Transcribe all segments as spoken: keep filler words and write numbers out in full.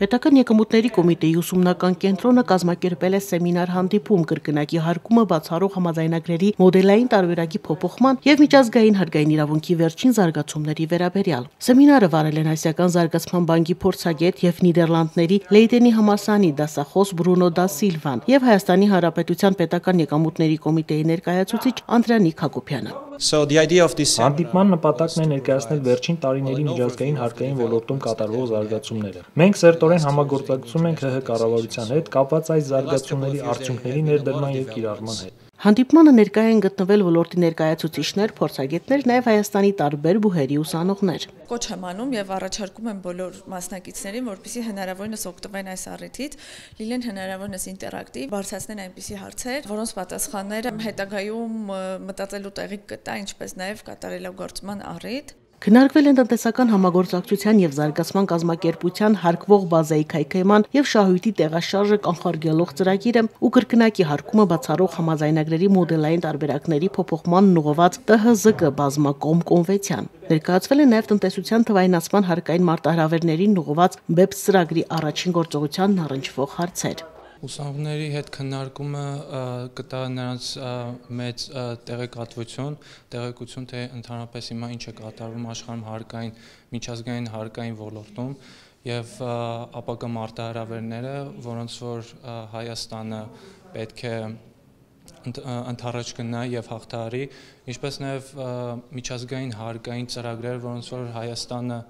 Պետական եկամուտների կոմիտեի ուսումնական կենտրոնը կազմակերպել է սեմինար հանդիպում կրկնակի հարկումը բացառող համաձայնագրերի մոդելային տարբերակի փոփոխման եւ միջազգային հարկային իրավունքի վերջին զարգացումների վերաբերյալ։ Սեմինարը վարել են Ասիական զարգացման բանկի փորձագետ եւ Նիդերլանդների Լեյդենի համալսարանի դասախոս Բրունո դա Սիլվան եւ Հայաստանի Հանրապետության պետական եկամուտների կոմիտեի ներկայացուցիչ Անդրանիկ Հակոբյանը։ So the idea of this Հանդիպման նպատակն է ներկայացնել վերջին տարիների միջազգային հարկային ոլորտում կատարվող զարգացումները։ Մենք սերտորեն համագործակցում ենք ՀՀ կառավարության հետ կապված այս զարգացումների արդյունքների ներդրման եւ կիրառման հետ։ Հանդիպմանը ներկայ են գտնվել ոլորտի ներկայացուցիչներ, փորձագետներ, նաև Հայաստանի տարբեր բուհերի ուսանողներ։ Կոչ եմ անում եւ առաջարկում եմ բոլոր մասնակիցներին, որպեսզի հնարավորինս օգտվեն այս առիթից, լինեն հնարավորինս ինտերակտիվ, բարձրացնեն այնպիսի հարցեր, որոնց պատասխանները հետագայում մտածելու տեղի կտա, ինչպես նաև կատարելագործման առիթ։ Քննարկվել են տնտեսական համագործակցության եւ զարգացման կազմակերպության հարկվող բազայի քայքայման եւ շահույթի տեղաշարժը կանխարգելող ծրագիրը ու կրկնակի հարկումը բացառող համաձայնագրերի մոդելային տարբերակների փոփոխման ուղղված Տ Հ ԶԿ բազմակողմ կոնվենցիան։ Ներկայացվել է նաեւ տնտեսության թվայնացման հարկային մարտահրավերներին ուղղված բեպս ծրագրի առաջին գործողությանն առնչվող հարցեր։ Ուսանողների հետ քննարկումը կտա նրանց մեծ տեղեկատվություն, տեղեկություն թե ընդհանրապես հիմա ինչ է կատարվում աշխարհում հարկային, միջազգային հարկային ոլորտում եւ ապագա մարտահրավերները, որոնց որ Հայաստանը պետք է ընդառաջ գնա եւ հաղթահարի, ինչպես նաեւ միջազգային հարկային ծրագրեր, որոնց որ Հայաստանը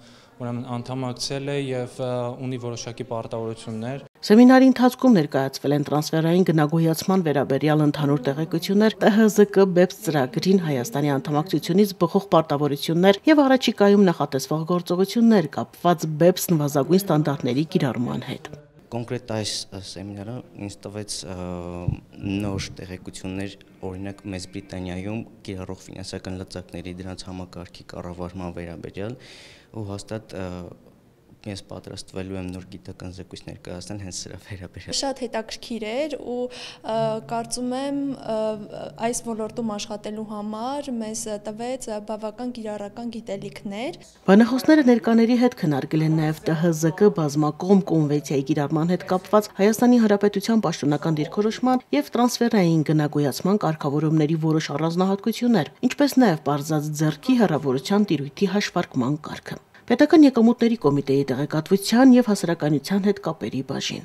ուրեմն անդամակցել է եւ ունի որոշակի պարտավորություններ։ Սեմինարի ընթացքում ներկայացվել են տրանսֆերային գնագոյացման վերաբերյալ ընդհանուր տեղեկություններ, Տ Հ ԶԿ բեպս ծրագրին Հայաստանի անդամակցությունից բխող պարտավորություններ եւ առաջիկայում նախատեսվող գործողություններ կապված բեպս նվազագույն ստանդարտների կիրառման հետ։ Կոնկրետ այս սեմինարը ինձ տվեց նոր տեղեկություններ, օրինակ Մեծ Բրիտանիայում կիրառող ֆինանսական լծակների դրանց համակարգի կառավարման վերաբերյալ ու հաստատ ես պատրաստվելու եմ նոր գիտական զեկույց ներկայացնել հենց սրա վերաբերյալ։ Շատ հետաքրքիր էր ու կարծում եմ այս ոլորտում աշխատելու համար մեզ տվեց բավական կիրառական գիտելիքներ։ Բանախոսները ներկաների հետ քննարկել են նաև Տ Հ ԶԿ բազմակողմ կոնվենցիայի կիրառման հետ կապված Հայաստանի Հանրապետության պաշտոնական դիրքորոշման եւ տրանսֆերային գնագոյացման կարգավորումների որոշ առանձնահատկություններ, ինչպես նաև բարձած ձեռքի հեռավորության տիրույթի հաշվարկման կարգը։ Պետական եկամուտների կոմիտեի տեղեկատվության եւ հասարակայնության հետ կապերի բաժին։